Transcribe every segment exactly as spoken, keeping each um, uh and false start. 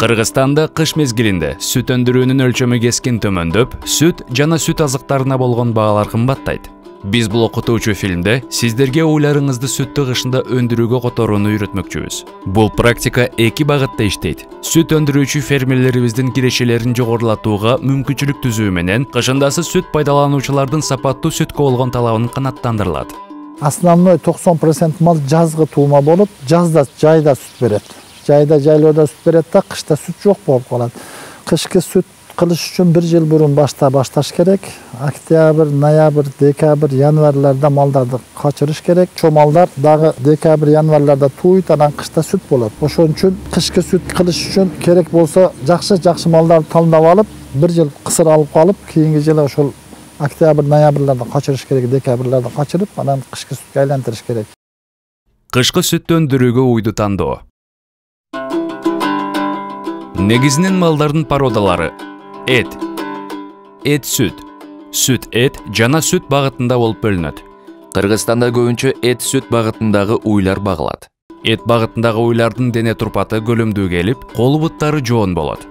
Кыргызстанда кыш мезгилинде сүт өндүрүүнүн өлчөмү кескин төмөндөп, сүт жана сүт азыктарына болгон баалар кымбаттайт. Биз бул окутуучу фильмде сиздерге ойларыңызды сүттү кышында өндүрүүгө которууну үйрөтмөкчүбүз. Бул практика эки багытта иштейт. Сүт өндүрүүчү фермерлерибиздин кирешелерин жогорулатууга мүмкүнчүлүк түзүү менен кышындасы сүт пайдалануучулардын сапаттуу сүткө болгон талабын канааттандырылат. Основной токсон процент мал жазгы туума болуп, жазда жайда сүт берет. Жайда жайлоодо сүт берет да, кышта сүт жок болуп калат. Кышкы сүт кылыш үчүн бир жыл бурун башта башташ керек. Октябрь, ноябрь, декабрь, январларда малдарды качырыш керек. Чо малдар дагы декабрь, январларда тууйт, анан кышта сүт болот. Ошон үчүн кышкы сүт кылыш үчүн керек болсо жакшы-жакшы малдарды тандап алып, бир жыл кысыр алып калып, кийинки жылы ошол октябрь, ноябрларда качырыш керек, декабрларда качырып, анан кышкы сүткө айлантырыш керек. Кышкы сүттү өндүрүүгө уйду тандоо. Негизинен малдардын породалары: эт, эт сүт, сүт эт жана сүт багытында болуп бөлүнөт. Кыргызстанда көбүнчө эт сүт багытындагы уйлар багылат. Эт багытындагы уйлардын дене турпаты көлөмдүү келип, кол буттары жоон болот.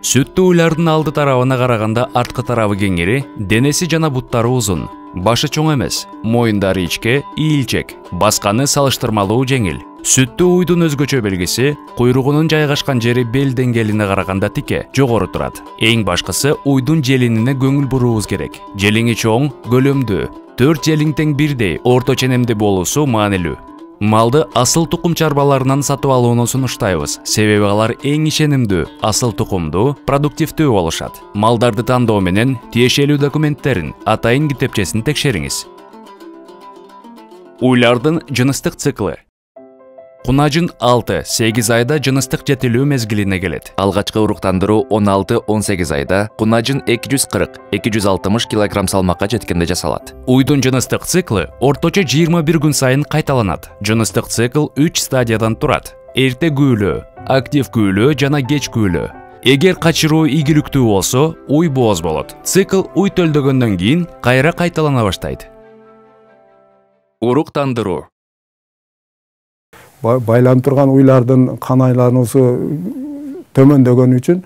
Сүттүү уйлардын алды тарабына караганда арткы тарабы кеңири, денеси жана буттары узун. Башы чоң эмес, моюндары ичке, ийилчек, басканы салыштырмалуу жеңил. Сүттүү уйдун өзгөчө белгиси куйругунун жайгашкан жери бел деңгээлине караганда тике, жогору турат. Эң башкысы уйдун желинине көңүл буруубуз керек. Желиңи чоң, көлөмдүү, төрт желиң тең бирдей, орто ченемди болуусу маанилүү. Малды асыл тукум чарбаларынан сатып алууну сунуштайбыз, себеби алар эң ишенимдүү, асыл тукумдуу, продуктивдүү болушат. Малдарды тандоо менен тиешелүү документтерин, атайын китепчесин текшериңиз. Уйлардын жыныстык циклы. Кунажын алты сегиз айда жыныстык жетилүү мезгилине келет. Алгачкы уруктандыруу он алты он сегиз айда, кунажын эки жүз кырк эки жүз алтымыш килограмм салмакка жеткенде жасалат. Уйдун жыныстык циклы орточо жыйырма бир күн сайын кайталанат. Жыныстык цикл үч стадиядан турат: эрте күүлөө, актив күүлөө жана кеч күүлөө. Эгер качыруу ийгиликтүү болсо, уй бооз болот. Цикл уй төлдөгөндөн кийин кайра кайталана баштайт. Уруктандыруу. Байланып турган уйлардын кан айлануусу төмөндөгөн үчүн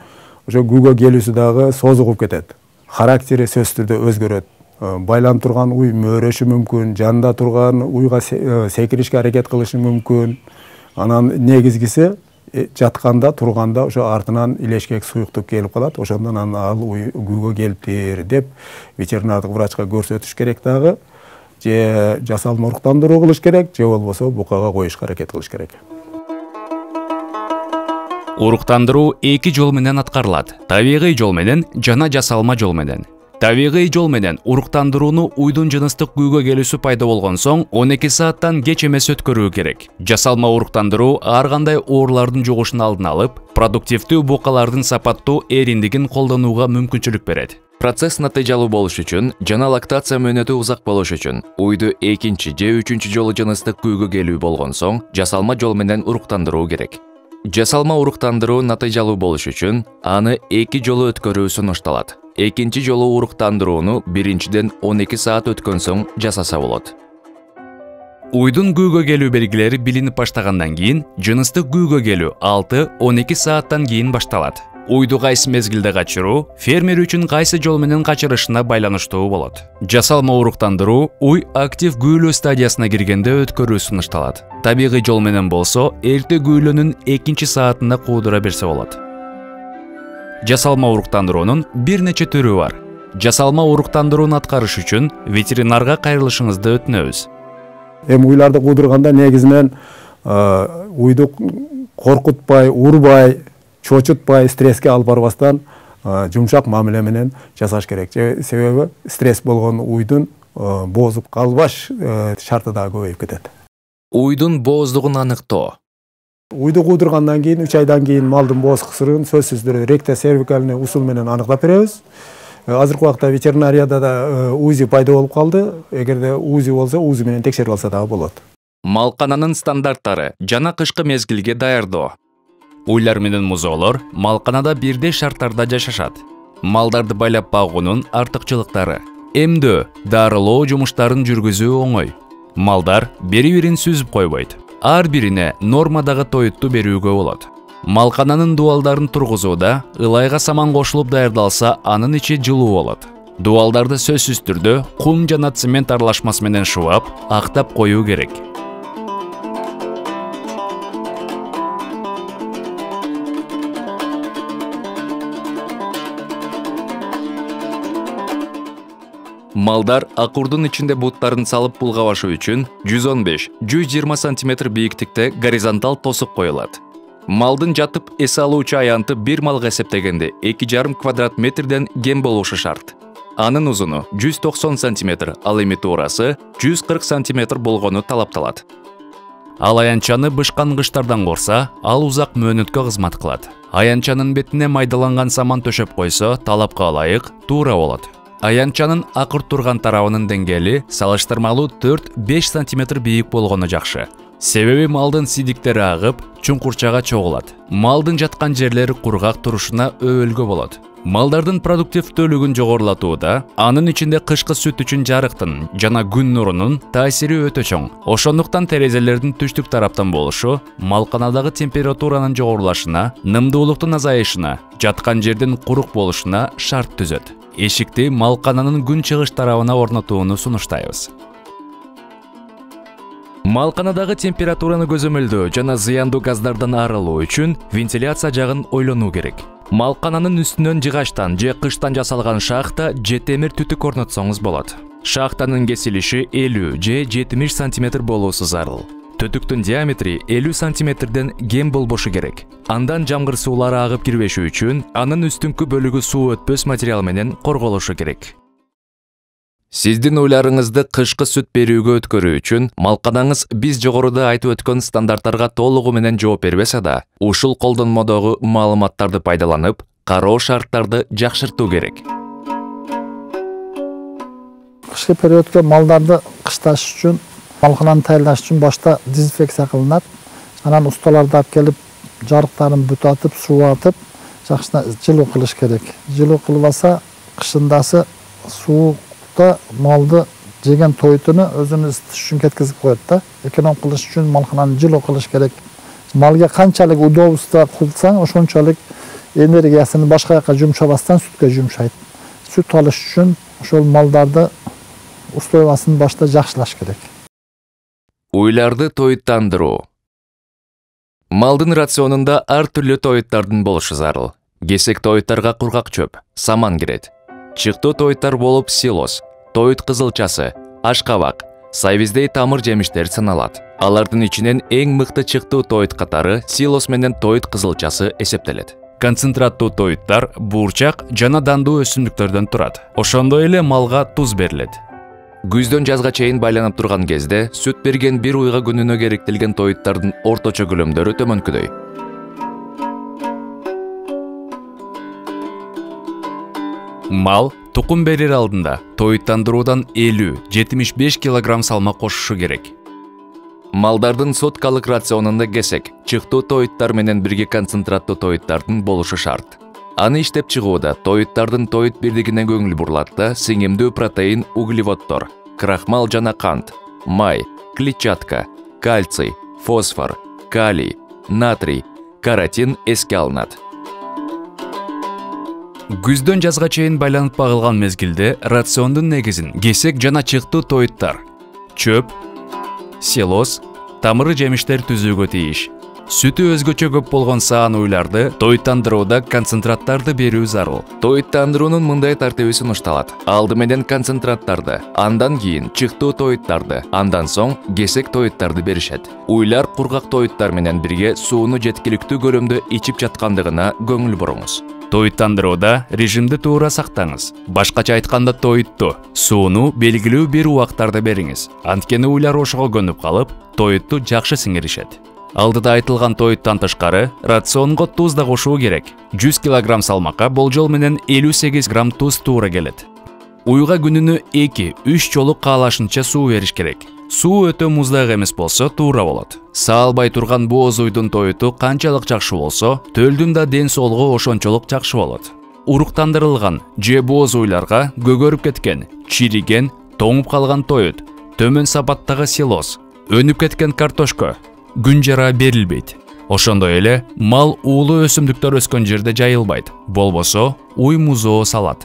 ошо күүгө келүүсү дагы созугуп кетет. Характери сөзсүз түрдө өзгөрөт. Байланып турган уй мөөрөшү мүмкүн, жанында турган уйга секиришке аракет кылышы мүмкүн. Анан негизгиси жатканда, турганда ошо артынан илешкек суюктук келип калат. Ошондон анан ал уй күүгө келиптир деп ветеринардык врачка көрсөтүш керек дагы. Же жасалма уруктандыруу кылыш керек, же болбосо букага коюшка аракет кылыш керек. Уруктандыруу эки жол менен аткарылат: табигый жол менен жана жасалма жол менен. Табигый жол менен уруктандырууну уйдун жыныстык күүгө келүүсү пайда болгон соң он эки сааттан кеч эмес өткөрүү керек. Жасалма уруктандыруу ар кандай оорулардын жугушун алдын алып, продуктивдүү букалардын сапаттуу эриндигин колдонууга мүмкүнчүлүк берет. Процесс натыйжалуу болуш үчүн жана лактация мөөнөтү узак болуш үчүн уйду экинчи же үчүнчү жолу жыныстык күүгө келүү болгон соң жасалма жол менен уруктандыруу керек. Жасалма уруктандыруу натыйжалуу болуш үчүн аны эки жолу өткөрүү сунушталат. Экинчи жолу уруктандырууну биринчиден он эки саат өткөн соң жасаса болот. Уйдун күүгө келүү белгилери билинип баштагандан кийин жыныстык күүгө келүү алты он эки сааттан кийин башталат. Уйду кайсы мезгилде качыруу фермер үчүн кайсы жол менен качырышына байланыштуу болот. Жасалма уруктандыруу уй актив күүлөө стадиясына киргенде өткөрүү сунушталат. Табигый жол менен болсо эрте күүлөөнүн экинчи саатында куудура берсе болот. Жасалма уруктандыруунун бир нече түрү бар. Жасалма уруктандырууну аткарыш үчүн ветеринарга кайрылышыңызды өтүнөбүз. Эми уйларды куудурганда негизинен уйду коркутпай, урбай, чочутпай, стресске алып барбастан жумшак мамиле менен жасаш керек. Себеби стресс болгон уйдун боозуп калбаш шарты дагы көбөйүп кетет. Уйдун бооздугун аныктоо. Уйду куудургандан кийин үч айдан кийин малдын бооз кысырын сөзсүз түрдө ректосервикальный усул менен аныктап беребиз. Азыркы убакта ветеринарияда да УЗИ пайда болуп калды. Эгерде УЗИ болсо, УЗИ менен текшерип алса дагы болот. Малкананын стандарттары жана кышкы мезгилге даярдоо. Уйлар менен музоолор малканада бирдей шарттарда жашашат. Малдарды байлап багуунун артыкчылыктары: эмдөө, дарылоо жумуштарын жүргүзүү оңой. Малдар бири-бирин сүзүп койбойт. Ар бирине нормадагы тоютту берүүгө болот. Малкананын дубалдарын тургузууда ылайга саман кошулуп даярдалса, анын ичи жылуу болот. Дубалдарды сөзсүз түрдө кум жана цемент аралашмасы менен шуап, актап коюу керек. Малдар акурдун ичинде буттарын салып булгабашы үчүн жүз он беш — жүз жыйырма сантиметр бийиктикте горизонталь тосук коюлат. Малдын жатып эс алуучу аянты бир малга эсептегенде эки жарым квадрат метрден кем болушу шарт. Анын узуну жүз токсон сантиметр, ал эми туурасы жүз кырк сантиметр болгону талапталат. Ал аянчаны бышкан кыштардан корса, ал узак мөөнөткө кызмат кылат. Аянчанын бетине майдаланган саман төшөп койсо, талапка ылайык туура болот. Аянчанын акырт турган тарабынын деңгээли салыштырмалуу төрт — беш сантиметр бийик болгону жакшы. Себеби малдын сидиктери агып, чуңкурчага чогулат. Малдын жаткан жерлери кургак турушуна өбөлгө болот. Малдардын продуктивдүүлүгүн жогорулатууда анын ичинде кышкы сүт үчүн жарыктын жана күн нурунун таасири өтө чоң. Ошондуктан терезелердин түштүк тараптан болушу малканадагы температуранын жогорулашына, нымдуулуктун азайышына, жаткан жердин курук болушуна шарт түзөт. Эшикти малкананын күн чыгыш тарабына орнотууну сунуштайбыз. Малканадагы температураны көзөмөлдөө жана зыяндуу газдардан арылуу үчүн вентиляция жагын ойлонуу керек. Малкананын үстүнөн жыгачтан же кыштан жасалган шахта же темир түтүк орнотсоңуз болот. Шахтанын кесилиши элүү же жетимиш сантиметр болуусу зарыл. Түтүктүн диаметри элүү сантиметрден кем болбошу керек. Андан жамгыр суулары агып кирбеши үчүн анын үстүңкү бөлүгү суу өтпөс материал менен корголушу керек. Сиздин уйларыңызды кышкы сүт берүүгө өткөрүү үчүн малканаңыз биз жогоруда айтып өткөн стандарттарга толугу менен жооп бербесе да, ушул колдонмодогу маалыматтарды пайдаланып, кароо шарттарды жакшыртуу керек. Кышкы периодко малдарды кышташ үчүн, малкананы даярдаш үчүн башта дезинфекция кылынат. Анан усталарды алып келип, жарыктарын бүтатып, сууатып, жакшына жылуу кылыш керек. Жылуу кылбаса, кышындасы суу малды жеген тойтуну өзүнүн ысытыш үчүн кеткизип коет да. Эконом кылыш үчүн малкананы жылуу кылыш керек. Малга канчалык удобство кылсаң, ошончолук энергиясын башка жака жумшабастан сүткө жумшайт. Сүт алыш үчүн ошол малдарды условиясын башта жакшылаш керек. Уйларды тоюттандыруу. Малдын рационунда ар түрлүү тоюттардын болушу зарыл. Кесек тоюттарга кургак чөп, саман кирет. Чыктуу тоюттар болуп силос, тоют кызылчасы, ашкабак, сайвиздей тамыр жемиштер саналат. Алардын ичинен эң мыкты чыктуу тоют катары силос менен тоют кызылчасы эсептелет. Концентраттуу тоюттар буурчак жана дандуу өсүмдүктөрдөн турат. Ошондой эле малга туз берилет. Күздөн жазга чейин байланып турган кезде сүт берген бир уйга күнүнө керектелген тоюттардын орточо көлөмдөрү төмөнкүдөй. Мал тукум берер алдында тоюттандыруудан элүү — жетимиш беш килограмм салмак кошушу керек. Малдардын суткалык рационунда кесек, чыктуу тоюттар менен бирге концентраттуу тоюттардын болушу шарт. Аны иштеп чыгууда тоюттардын тоют бирдигине көңүл бурулат да, сиңемдүү протеин, углеводдор, крахмал жана кант, май, клетчатка, кальций, фосфор, калий, натрий, каротин эске алынат. Күздөн жазга чейин байланып багылган мезгилде рациондун негизин кесек жана чыктуу тоюттар, чөп, силос, тамыры жемиштер түзүүгө тийиш. Сүтү өзгөчө көп болгон саан уйларды тоюттандырууда концентраттарды берүү зарыл. Тоюттандыруунун мындай тартиби сунушталат. Алды менен концентраттарды, андан кийин чыктуу тоюттарды, андан соң кесек тоюттарды беришет. Уйлар кургак тоюттар менен бирге сууну жеткиликтүү көлөмдө ичип жаткандыгына көңүл буруңуз. Тоюттандырууда режимди туура сактаңыз. Башкача айтканда тоютту, сууну белгилүү бир убактарда бериңиз. Анткени уйлар ошого көнүп калып, тоютту жакшы сиңиришет. Алдыда айтылган тоюттан тышкары рационго туз да кошуу керек. жүз килограмм салмакка болжол менен элүү сегиз грамм туз туура келет. Уйга күнүнө эки — үч жолу каалашынча суу бериш керек. Суу өтө муздак эмес болсо туура болот. Саалбай турган бооз уйдун тоюту канчалык жакшы болсо, төлдүн да ден соолугу ошончолук жакшы болот. Уруктандырылган же бооз уйларга көгөрүп кеткен, чириген, тоңуп калган тоют, төмөн сапаттагы силос, өнүп кеткен картошка күн жара берилбейт. Ошондой эле мал уулуу өсүмдүктөр өскөн жерде жайылбайт, болбосо уй музоо салат.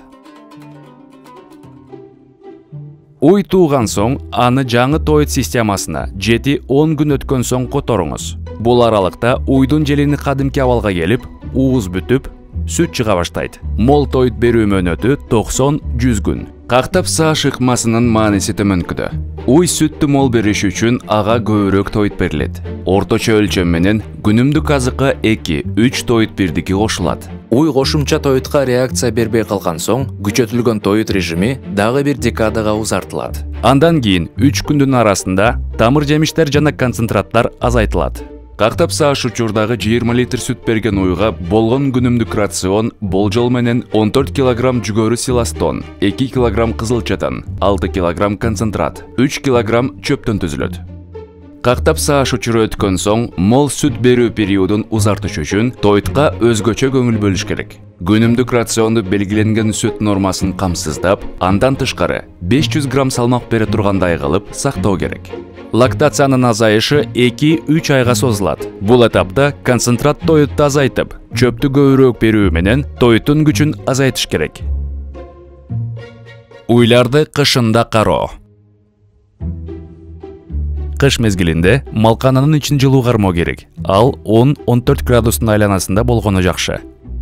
Уй тууган соң аны жаңы тоит системасына жети он күн өткөн соң которуңуз. Бул аралыкта уйдун желини кадимки абалга келип, ууз бүтүп, сүт чыга баштайт. Мол тоит берүү мөөнөтү токсон жүз күн. Кактап сааш ыкмасынын мааниси төмөнкүдө. Уй сүттү мол бериш үчүн ага көбүрөөк тоит берилет. Орточо өлчөм менен күнүмдүк азыкка эки үч тоит бирдики кошулат. Уй кошумча тоитка реакция бербей калган соң, күчөтүлгөн тоит режими дагы бир декадага узартылат. Андан кийин үч күндүн арасында тамыр жемиштер жана концентраттар азайтылат. Кактап сааш учурдагы жыйырма литр сүт берген уйга болгон күнүмдүк рацион болжол менен он төрт килограмм жүгөрү силастон, эки килограмм кызылчадан, алты килограмм концентрат, үч килограмм чөптөн түзүлөт. Кактап сааш учуру өткөн соң, мол сүт берүү периодун узартыш үчүн тоитка өзгөчө көңүл бөлүш керек. Күнүмдүк рационду белгиленген сүт нормасын камсыздап, андан тышкары беш жүз грамм салмак бере тургандай кылып сактоо керек. Лактациянын азайышы эки үч айга созулат. Бул этапта концентрат тоитты азайтып, чөптү көбүрөөк берүү менен тоиттун күчүн азайтыш керек. Уйларды кышында кароо. Кыш мезгилинде малкананын ичин жылуу кармоо керек. Ал он он төрт градустун айланасында болгону жакшы.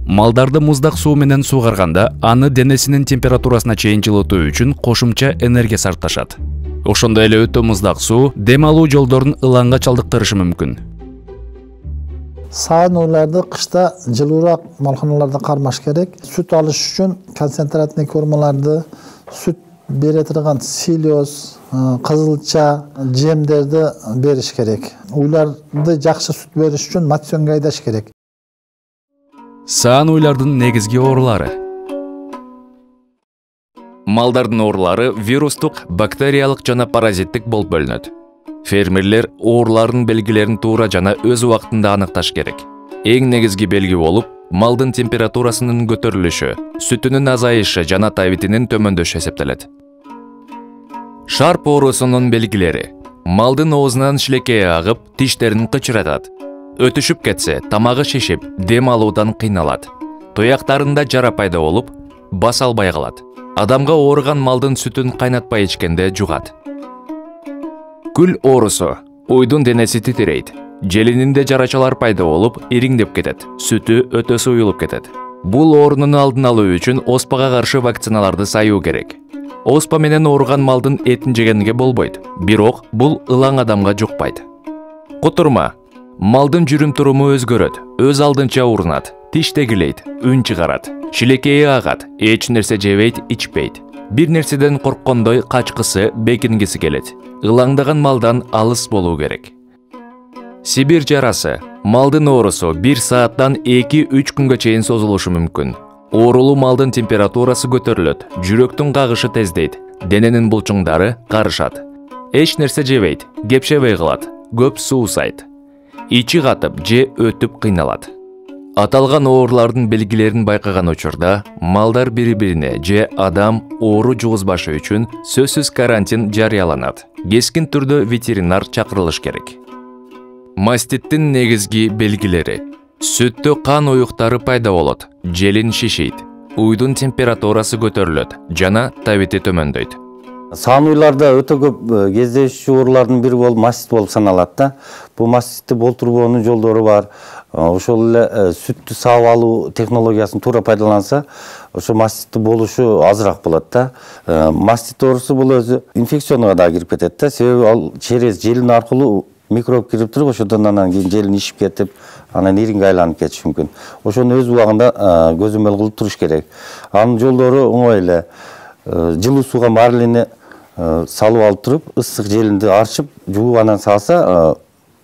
Малдарды муздак суу менен суугарганда аны денесинин температурасына чейин жылытуу үчүн кошумча энергия сарпташат. Ошондой эле өтө муздак суу дем алуу жолдорун ылаңга чалдыктырышы мүмкүн. Саан уйларды кышта жылуураак малканаларда кармаш керек. Сүт алыш үчүн концентратный кормаларды, сүт бере турган силиоз, кызылча, жемдерди бериш керек. Уйларды жакшы сүт бериш үчүн мационго айдаш керек. Саан уйлардын негизги оорулары. Малдардын оорулары вирустук, бактериялык жана паразиттик болуп бөлүнөт. Фермерлер оорулардын белгилерин туура жана өз убактында аныкташ керек. Эң негизги белги болуп, малдын температурасынын көтөрүлүшү, сүтүнүн азайышы жана табитинин төмөндөшү эсептелет. Шарп оорусунун белгилери. Малдын оозунан шилекей агып, тиштерин кычыратат. Өтүшүп кетсе, тамагы шишип, дем алуудан кыйналат. Туяктарында жара пайда болуп, баса албай калат. Адамга ооруган малдын сүтүн кайнатпай ичкенде жугат. Күл оорусу. Уйдун денеси титирейт. Желининде жарачалар пайда болуп, ириңдеп кетет. Сүтү өтө суюлуп кетет. Бул оорунун алдын алуу үчүн оспага каршы вакциналарды саюу керек. Оспа менен ооруган малдын этин жегенге болбойт, бирок бул ылаң адамга жукпайт. Кутурма. Малдын жүрүм-туруму өзгөрөт, өз алдынча урунат, тиш тегилейт, үн чыгарат, шилекейи агат, эч нерсе жебейт, ичпейт. Бир нерседен корккондой качкысы, бекингиси келет. Ылаңдаган малдан алыс болуу керек. Сибир жарасы. Малдын оорусу бир сааттан эки үч күнгө чейин созулушу мүмкүн. Оорулуу малдын температурасы көтөрүлөт, жүрөктүн кагышы тездейт, дененин булчуңдары карышат. Эч нерсе жебейт, кепшебей калат, көп суусайт. Ичи катып же өтүп кыйналат. Аталган оорулардын белгилерин байкаган учурда малдар бири-бирине же адам оору жугузбашы үчүн сөзсүз карантин жарыяланат. Кескин түрдө ветеринар чакырылыш керек. Маститтин негизги белгилери. Сүттө кан уюктары пайда болот, желин шишийт, уйдун температурасы көтөрүлөт жана табити төмөндөйт. Саан уйларда өтө көп кездешүү оорулардын бири болуп мастит болуп саналат да. Бул маститти болтурбоонун жолдору бар. Ошол эле сүттү саап алуу технологиясын туура пайдаланса, ошо маститти болушу азыраак болот да. Мастит оорусу бул өзү инфекционуга да кирип кетет да. Себеби ал через желин аркылуу микроб кирип туруп, ошодон анан кийин желин ишип кетип, анан иринге айланып кетиши мүмкүн. Ошону өз убагында көзөмөл кылып туруш керек. Анын жолдору оңой эле. Жылуу сууга марлени салып алып туруп, ысык желинди арчып, жууп анан салса,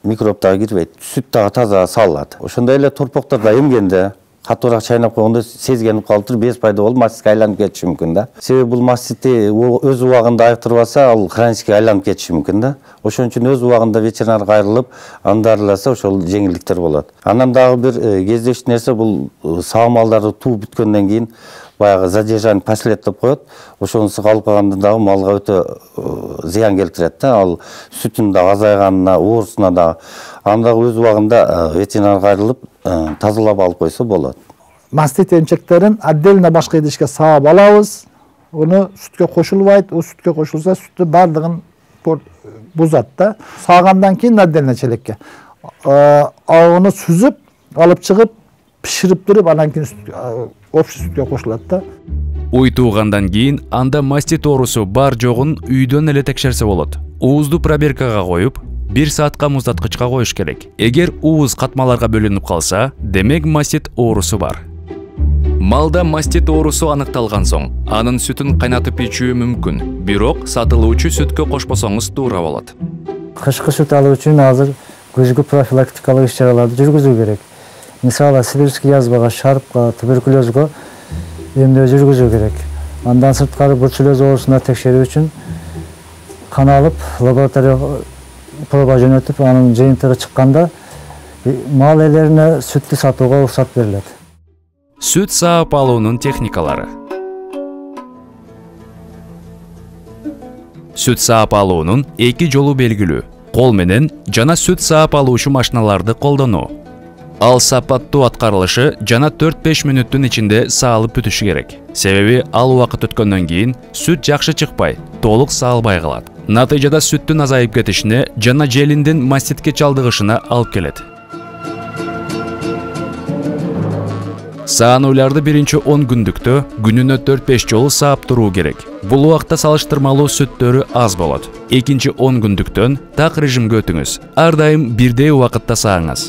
микроб дагы кирбейт. Сүт дагы таза салынат. Ошондой эле торпоктарда эмгенде, катуураак чайнап койгондо сезгенип калып туруп, без пайда болуп, маститке айланып кетиши мүмкүн да. Себеби бул маститти өз убагында айыктырбаса, ал хронический айланып кетиши мүмкүн да. Ошон үчүн өз убагында ветеринарга айрылып, аны дарыласа, ошол жеңилдиктер болот. Анан дагы бир кездешүү нерсе, бул саа малдарды тууп бүткөндөн кийин баягы задержание последовать деп коет. Ошонусу калып калганда дагы малга өтө зыян келтирет да. Ал сүтүн да азайганына, оорусуна да. Анда өз убагында ветеринарга айрылып тазалап алып койсо болот. Мастит эмчектерин отдельно башка идишке саап алабыз. Уну сүткө кошулбайт. У сүткө кошулса сүттү бардыгын бузат да. Саагандан кийин отдельно челекке. Аны сүзүп, алып чыгып, пиширип туруп, андан кийин общий сүткө кошулат да. Уй туугандан кийин анда мастит оорусу бар жогун үйдөн эле текшерсе болот. Уузду пробиркага коюп, бир саатка муздаткычка коюш керек. Эгер ууз катмаларга бөлүнүп калса, демек мастит оорусу бар. Малда мастит оорусу аныкталган соң, анын сүтүн кайнатып ичүү мүмкүн, бирок сатылуучу сүткө кошпосоңуз туура болот. Кышкы сүт алуу үчүн азыр көзгү профилактикалык иш-чараларды жүргүзүү керек. Мисалы, сибирский язвага, шарпка, туберкулезго эмдөө жүргүзүү керек. Андан сырткары бруцеллез оорусуна текшерүү үчүн кан алып, лабораторияга проба жөнөтүп, анын жыйынтыгы чыкканда мал ээлерине сүттү сатууга уруксат берилет. Сүт саап алуунун техникалары. Сүт саап алуунун эки жолу белгилүү. Кол менен жана сүт саап алуучу машиналарды колдонуу. Ал сапаттуу аткарылышы жана төрт-беш мүнөттүн ичинде саалып бүтүшү керек. Себеби ал убакыт өткөндөн кийин сүт жакшы чыкпай, толук саалбай калат. Натыйжада сүттүн азайып кетишине жана желиндин маститке чалдыгышына алып келет. Саанууларды биринчи он күндүктө күнүнө төрт-беш жолу саап туруу керек. Бул убакта салыштырмалуу сүттөрү аз болот. Экинчи он күндүктөн так режимге өтүңүз. Ар дайым бирдей убакытта сааңыз.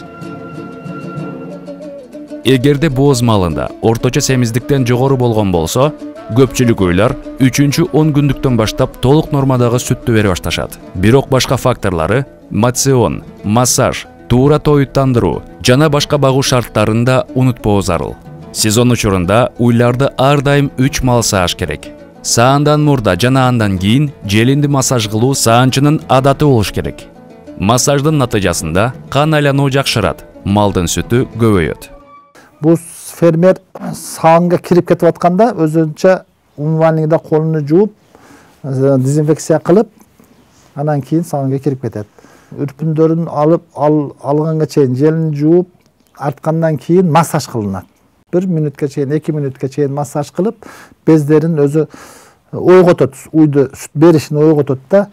Эгерде бооз малында орточо семиздиктен жогору болгон болсо, көпчүлүк уйлар үчүнчү он күндүктөн баштап толук нормадагы сүттү бере башташат. Бирок башка факторлары мацион, массаж, туура тоюттандыруу жана башка багуу шарттарын да унутпоо зарыл. Сезон учурунда уйларды ар дайым үч мал сааш керек. Саандан мурда жана андан кийин желинди массаж кылуу саанчынын адаты болуш керек. Массаждын натыйжасында кан айлануу жакшырат, малдын сүтү көбөйөт. Бул фермер саанга кирип кетип атканда өзүнчө умывальныйда колуну жууп, дезинфекция кылып, андан кийин саанга кирип кетет. Үрпүндөрүн алып алганга чейин желин жууп, арткандан кийин массаж кылынат. бир мүнөткө чейин, эки мүнөткө чейин массаж кылып, бездерин өзү ойготот, уйду сүт беришин ойготот да.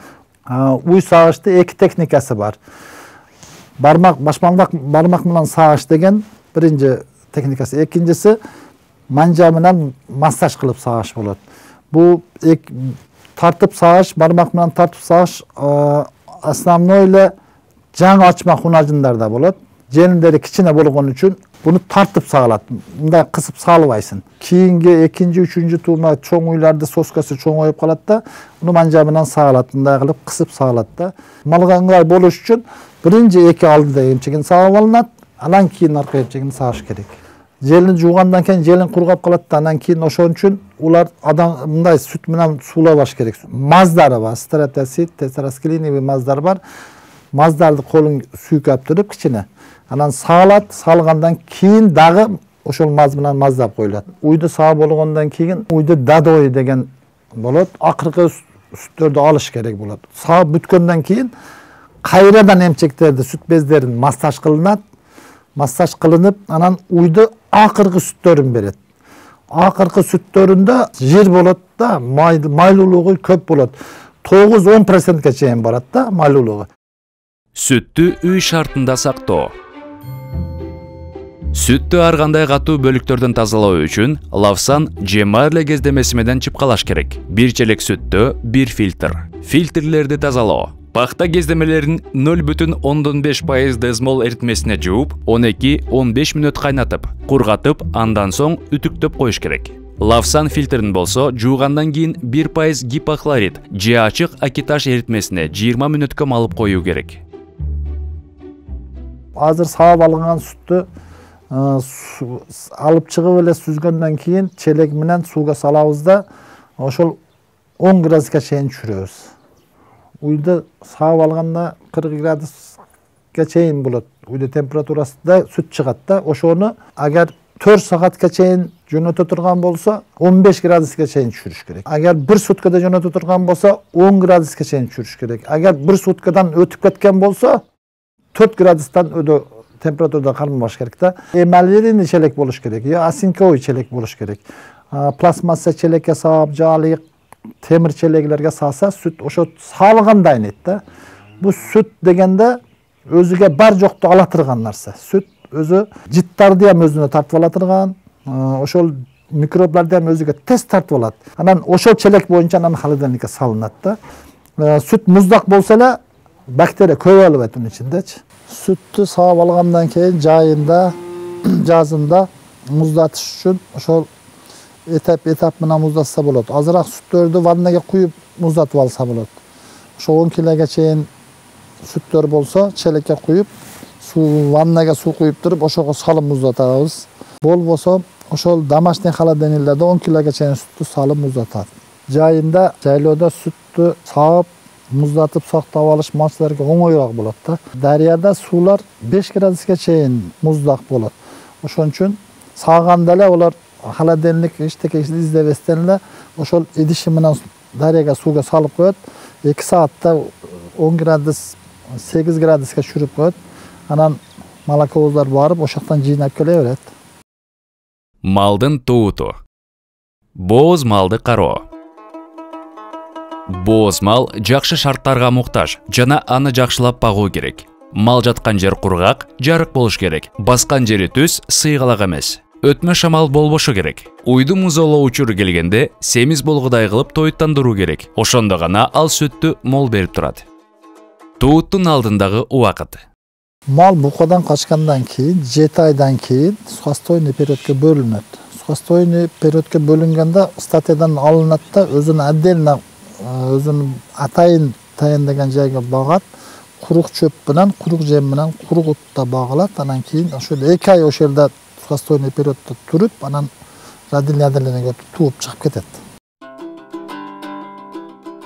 Уй сагышты эки техникасы бар. Бармак, башмалдак бармак менен сагыш деген биринчи техникасы, экинчиси манжа менен массаж кылып сагыш болот. Бул тартып сагыш, бармак менен тартып сагыш основной эле жаңы ачмак унажындарда болот. Желиндери кичине болгон үчүн буну тартып сагалат. Мындай кысып саалбайсың. Кийинги экинчи, үчүнчү туума чоң уйларды соскасы чоңоюп калат да, уну манжа менен сагалат, мындай кылып кысып сагалат да. Малга ыңгай болуш үчүн биринчи эки алдыда эмчегин саап алынат, андан кийин арка эмчегин сагыш керек. Желин жуугандан кийин желин кургап калат да, андан кийин ошон үчүн улар адам мындай сүт менен суулабаш керек. Маздары бар, стратосит, тетраскилиновый маздар бар. Маздарды колун сүйкөп туруп кичине. Анан саалат, салгандан кийин дагы ошол маз менен маздап коюлат. Уйду саап болгондон кийин уйду дадой деген болот. Акыркы сүттөрдү алыш керек болот. Саап бүткөндөн кийин кайрадан эмчектерди, сүт бездерин массаж кылынат. Массаж кылынып, анан уйду акыркы сүттөрүн берет. Акыркы сүттөрүндө жир болот да, майлуулугу көп болот. тогуз-он процентке чейин барат да майлуулугу. Сүттү үй шартында сактоо. Сүттү ар кандай катуу бөлүктөрдөн тазалоо үчүн лавсан же марле кездемеси менен чыпкалаш керек. Бир челек сүттө бир фильтр. Фильтрлерди тазалоо. Пахта кездемелерин нөл бүтүн ондон беш пайыз дезмол эритмесине жууп, он эки — он беш мүнөт кайнатып, кургатып, андан соң үтүктөп коюш керек. Лавсан фильтрин болсо жуугандан кийин бир пайыз гипохлорид же ачык акиташ эритмесине жыйырма мүнөткө малып коюу керек. Азыр саап алынган сүттү алып чыгып эле сүзгөндөн кийин челек менен сууга салабыз да, ошол он градуска чейин түшүрөбүз. Уйду саап алганда кырк градуска чейин болот. Уйду температурасында сүт чыгат да, ошону агар төрт саатка чейин жөнөтө турган болсо он беш градуска чейин түшүрүш керек. Агар бир суткада жөнөтө турган болсо он градуска чейин түшүрүш керек. Агар бир суткадан өтүп кеткен болсо төрт градустан өдө температурада кармаш керек да. Эмалирный челек болуш керек, я осинковый челек болуш керек. Пластмасса челекке салып, жаалык темир челеклерге салса, сүт ошо салганда айнейт да. Бу сүт дегенде өзүгө бар жокту ала турган нерсе. Сүт өзү жыттарды ham өзүнө тартып ала турган, ошол микробларды ham өзүгө тез тартып алат. Анан ошол челек боюнча анан холодильникке салынат да. Сүт муздак болсо эле бактерия көп алып атын ичиндечи. Сүттү саап алгандан кийин жайында, жазында муздатыш үчүн ошол этап-этап менен муздатса болот. Азыраак сүттөрдү ваннага куюп муздатып алса болот. Ошо он килога чейин сүттөр болсо, челекке куюп, суу ваннага суу куюп туруп, ошого салып муздатабыз. Болбосо, ошол домашний холодильниклерде он килога чейин сүттү салып муздатат. Жайында, жайлоодо сүттү саап, муздатып сактап алыш малчыларга оңоюраак болот да. Дарыяда суулар беш градуска чейин муздак болот. Ошон үчүн сааганда эле олар холодильник эчтеке издебестен эле ошол идиши менен дарыяга сууга салып коет. эки саатта он градус, сегиз градуска түшүрүп коет. Анан молоковоздар барып, ошоктон жыйнап келе берет. Малдын тууту. Бооз малды кароо. Бооз мал жакшы шарттарга муктаж жана аны жакшылап багуу керек. Мал жаткан жер кургак, жарык болуш керек. Баскан жери түз, сыйгалак эмес. Өтмө шамал болбошу керек. Уйду музоолоо учуру келгенде семиз болгудай кылып тоюттандыруу керек. Ошондо гана ал сүттү мол берип турат. Тууттун алдындагы убакыт. Мал букадан качкандан кийин жети айдан кийин сухостойный периодко бөлүнөт. Сухостойный периодко бөлүнгөндө статьядан алынат да өзүнүн отдельно өзүнүн атайын таяндаган жайга багат. Курук чөп менен, курук жем менен, курук утта багылат. Анан кийин ошол эки ай ошол жерде сухостойный периодто туруп, анан родильный тууп чыгып кетет.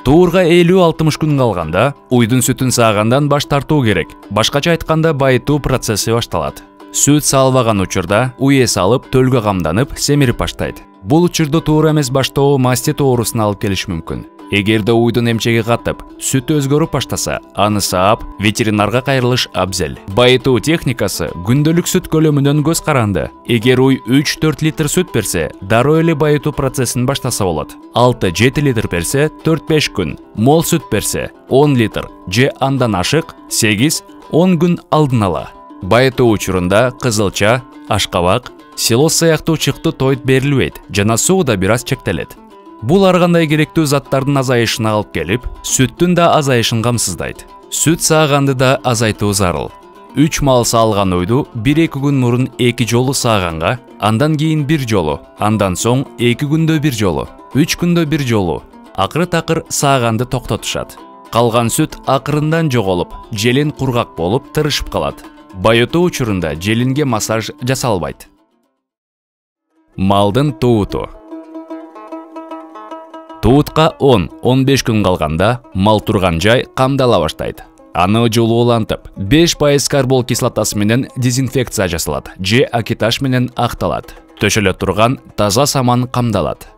Туурга элүү алтымыш күн калганда уйдун сүтүн саагандан баш тартуу керек. Башкача айтканда байытуу процесси башталат. Сүт салбаган учурда уй эс алып, төлгө камданып, семирип баштайт. Бул учурда туура эмес баштоо мастит оорусуна алып келиши мүмкүн. Эгерде уйдун эмчеги катып, сүт өзгөрүп баштаса, аны саап, ветеринарга кайрылыш абзел. Байытуу техникасы күндөлүк сүт көлөмүнөн көз каранды. Эгер уй үч төрт литр сүт берсе, дароо эле байытуу процессин баштаса болот. алты жети литр берсе, төрт беш күн. Мол сүт берсе, он литр же андан ашык, сегиз он күн алдын ала. Байытуу учурунда кызылча, ашкабак, силос сыяктуу чыкты тойт берилбейт жана суу да бир аз чектелет. Бул ар кандай керектүү заттардын азайышына алып келип, сүттүн да азайышын камсыздайт. Сүт сааганды да азайтуу зарыл. үч мал саалган уйду бир эки күн мурун эки жолу сааганга, андан кийин бир жолу, андан соң эки күндө бир жолу, үч күндө бир жолу акыры такыр сааганды токтотушат. Калган сүт акырындан жоголуп, желин кургак болуп тырышып калат. Байытуу учурунда желинге массаж жасалбайт. Малдын тууту. Туутка он он беш күн калганда мал турган жай камдала баштайт. Аны жылуулантып, беш пайыз карбол кислотасы менен дезинфекция жасалат же акитаж менен акталат. Төшөлө турган таза саман камдалат.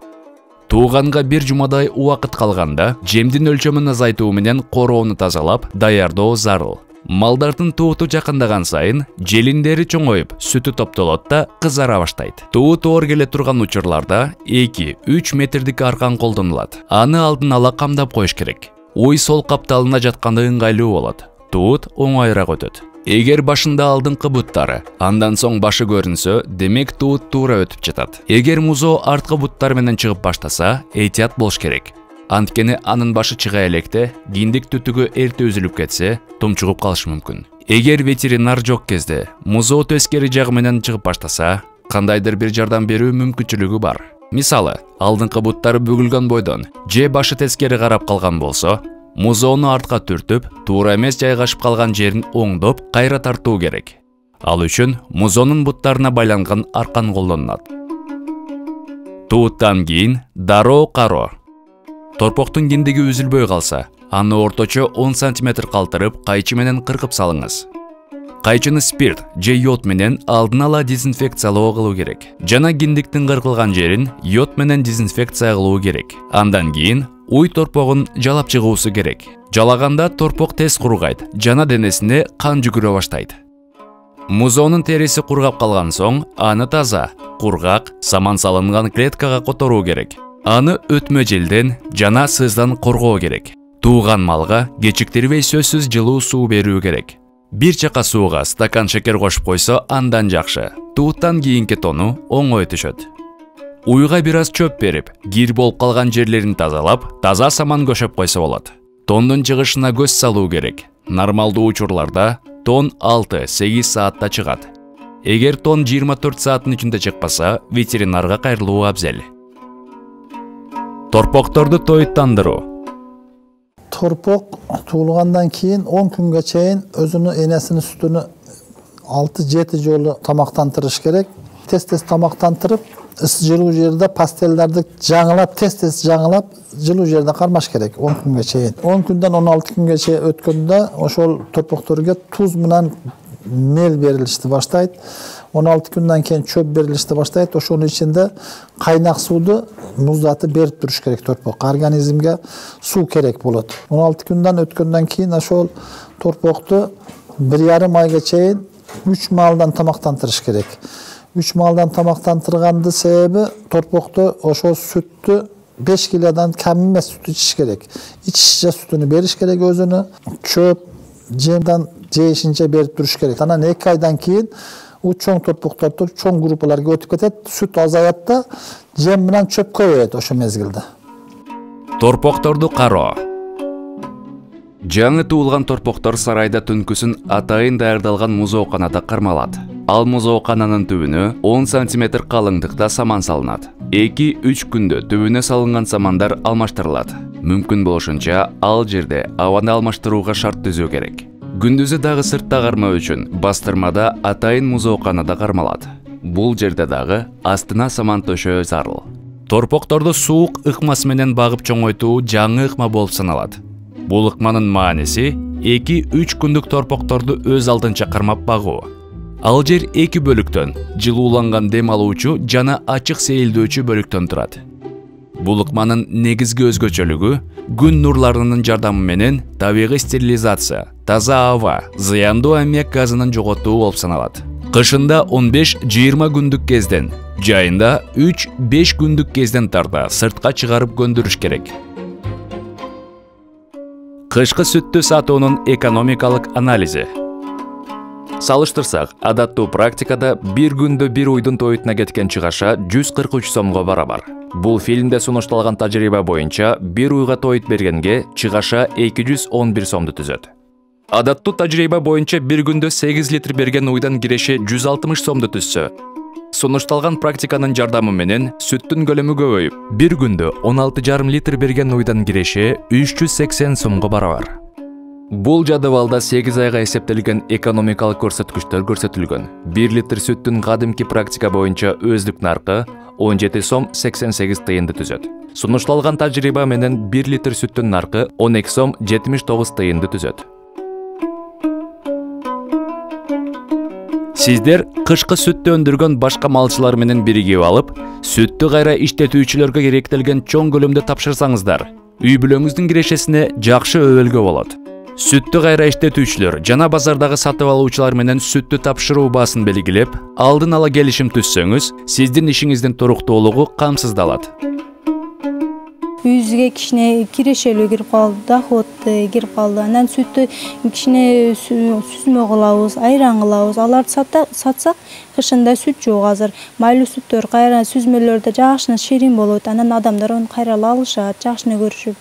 Тууганга бир жумадай убакыт калганда жемдин өлчөмүн азайтуу менен короону тазалап, даярдоо зарыл. Малдардын тууту жакындаган сайын желиндери чоңоюп, сүтү топтолот да кызара баштайт. Туут оор келе турган учурларда эки үч метрдик аркан колдонулат. Аны алдын ала камдап коюш керек. Уй сол капталына жатканда ыңгайлуу болот. Туут оңоюраак өтөт. Эгер башында алдыңкы буттары, андан соң башы көрүнсө, демек туут туура өтүп жатат. Эгер музоо арткы буттар менен чыгып баштаса, эйтият болуш керек. Анткени анын башы чыга электе, киндик түтүгү эрте үзүлүп кетсе, тумчугуп калышы мүмкүн. Эгер ветеринар жок кезде музоо тескери жагы менен чыгып баштаса, кандайдыр бир жардам берүү мүмкүнчүлүгү бар. Мисалы, алдыңкы буттары бүгүлгөн бойдон же башы тескери карап калган болсо, музоону артка түртүп, туура эмес жайгашып калган жерин оңдоп, кайра тартуу керек. Ал үчүн музоонун буттарына байланган аркан колдонулат. Тууттан кийин дароо кароо. Торпоктун киндиги үзүлбөй калса, аны орточо он сантиметр калтырып, кайчы менен кыркып салыңыз. кайчыны спирт же йод менен алдын ала дезинфекциялоо кылуу керек. Жана киндиктин кыркылган жерин йод менен дезинфекция кылуу керек. Андан кийин уй торпогун жалап чыгуусу керек. Жалаганда торпок тез кургайт жана денесине кан жүгүрө баштайт. Музоонун териси кургап калган соң, аны таза, кургак, саман салынган клеткага которуу керек. Аны өтмө желден жана сыздан коргоо керек. Тууган малга кечиктирбей сөзсүз жылуу суу берүү керек. Бир чака сууга стакан шекер кошуп койсо андан жакшы. Тууттан кийинки тону оңой түшөт. Уйга бир аз чөп берип, кир болуп калган жерлерин тазалап, таза саман көшөп койсо болот. Тондун чыгышына көз салуу керек. Нормалдуу учурларда тон алты-сегиз саатта чыгат. Эгер тон жыйырма төрт сааттын ичинде чыкпаса, ветеринарга кайрылуу абзел. Торпокторду тоюттандыруу. Торпок туулгандан кийин он күнгө чейин өзүнүн энесинин сүтүнү алты-жети жолу тамактантырыш керек. Тез-тез тамактантырып, ыссы жылуу жерде пастелдерди жаңылап, тез-тез жаңылап, жылуу жерде кармаш керек он күнгө чейин. он күндөн он алты күнгө чейин өткөндө ошол торпокторго туз менен мел берилишти баштайт. он алты күндөн кийин чөп берилишти баштайт. Ошонун ичинде кайнак сууду муздатып берип туруш керек торпок. Организмге суу керек болот. он алты күндөн өткөндөн кийин ошол торпокту бир жарым айга чейин үч маалдан тамактантырыш керек. үч маалдан тамактантыргандын себеби торпокту ошол сүттү беш килодан кем эмес сүт ичиш керек. Ичишче сүтүнү бериш керек өзүнө. Чөп, жемден жейишинче берип туруш керек. Анан эки айдан кийин у чоң торпоктор чоң группаларга өтүп кетет, сүт азаят да, жем менен чөп көбөйөт ошол мезгилде. Торпокторду кароо. Жаңы туулган торпоктор сарайда түнкүсүн атайын даярдалган музооканада кармалат. Ал музоокананын түбүнө он сантиметр калыңдыкта саман салынат. эки-үч күндө түбүнө салынган самандар алмаштырылат. Мүмкүн болушунча ал жерде абаны алмаштырууга шарт түзүү керек. Күндүзү дагы сыртта кармоо үчүн бастырмада атайын музооканада кармалат. Бул жерде дагы астына саман төшөө зарыл. Торпокторду суук ыкмасы менен багып чоңойтуу жаңы ыкма болуп саналат. Бул ыкманын мааниси эки-үч күндүк торпокторду өз алдынча кармап багуу. Ал жер эки бөлүктөн, жылууланган дем алуучу жана ачык сейилдөөчү бөлүктөн турат. Бул ыкманын негизги өзгөчөлүгү күн нурларынын жардамы менен табигый стерилизация, таза аба, зыяндуу аммиак газынын жоготуу болуп саналат. Кышында он беш жыйырма күндүк кезден, жайында үч-беш күндүк кезден тарта сыртка чыгарып көндүрүш керек. Кышкы сүттү сатуунун экономикалык анализи. Салыштырсак, адаттуу практикада бир күндө бир уйдун тоютуна кеткен чыгаша жүз кырк үч сомго барабар. Бул фильмде сунушталган тажрыйба боюнча бир уйга тоют бергенге чыгаша эки жүз он бир сомду түзөт. Адаттуу тажрыйба боюнча бир күндө сегиз литр берген уйдан киреше жүз алтымыш сомду түзсө, сунушталган практиканын жардамы менен сүттүн көлөмү көбөйүп, бир күндө он алты жарым литр берген уйдан киреше үч жүз сексен сомго барабар. Бул жадыбалда сегиз айга эсептелген экономикалык көрсөткүчтөр көрсөтүлгөн. бир литр сүттүн кадимки практика боюнча өздүк наркы он жети сом сексен сегиз тыйынды түзөт. Сунушталган тажрыйба менен бир литр сүттүн наркы он эки сом жетимиш тогуз тыйынды түзөт. Сиздер кышкы сүттү өндүргөн башка малчылар менен биригип алып, сүттү кайра иштетүүчүлөргө керектелген чоң көлөмдө тапшырсаңыздар, үй бүлөңүздүн кирешесине жакшы өбөлгө болот. Сүттү кайра иштетүүчүлөр жана базардагы сатып алуучулар менен сүттү тапшыруу баасын белгилеп, алдын ала келишим түзсөңүз, сиздин ишиңиздин туруктуулугу камсыздалат. Үйүбүзгө кичине кирешелүү кирип калды, доход кирип калды. Анан сүттү кичине сүзмө кылабыз, айран кылабыз. Аларды сатсак, кышында сүт жок азыр. Майлуу сүттөр кайра сүзмөлөрдө жакшы ширин болот. Анан адамдар аны кайра алышат, жакшы көрүшүп.